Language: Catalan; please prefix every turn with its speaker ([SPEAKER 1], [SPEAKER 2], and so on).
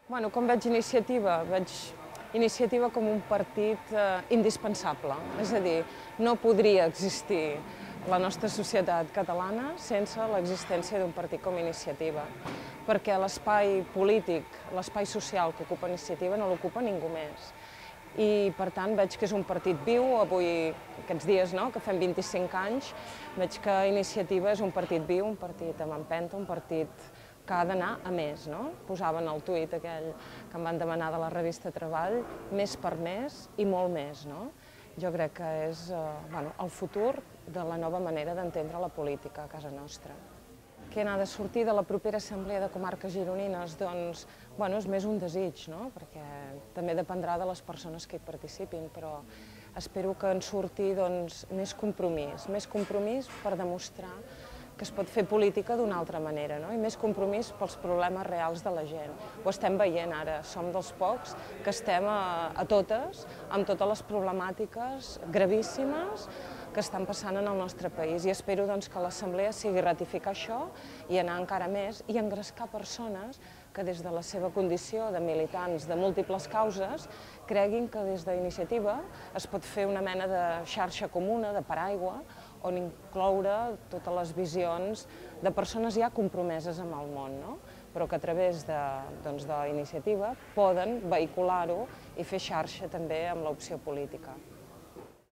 [SPEAKER 1] Bueno, com veig Iniciativa? Veig Iniciativa com un partit indispensable. És a dir, no podria existir la nostra societat catalana sense l'existència d'un partit com Iniciativa, perquè l'espai polític, l'espai social que ocupa Iniciativa no l'ocupa ningú més. I, per tant, veig que és un partit viu. Avui, aquests dies, que fem 25 anys, veig que Iniciativa és un partit viu, un partit amb empenta, un partit que ha d'anar a més. Posaven el tuit aquell que em van demanar de la revista Treball, més per més i molt més. Jo crec que és el futur de la nova manera d'entendre la política a casa nostra. Què n'ha de sortir de la propera Assemblea de Comarques Gironines? Doncs, és més un desig, perquè també dependrà de les persones que hi participin, però espero que en surti més compromís per demostrar que es pot fer política d'una altra manera, i més compromís pels problemes reals de la gent. Ho estem veient ara, som dels pocs que estem a totes, amb totes les problemàtiques gravíssimes que estan passant en el nostre país, i espero que l'Assemblea sigui ratificar això i anar encara més i engrescar persones que des de la seva condició de militants de múltiples causes creguin que des d'Iniciativa es pot fer una mena de xarxa comuna, de paraigua, on incloure totes les visions de persones ja compromeses amb el món, però que a través d'Iniciativa poden vehicular-ho i fer xarxa també amb l'opció política.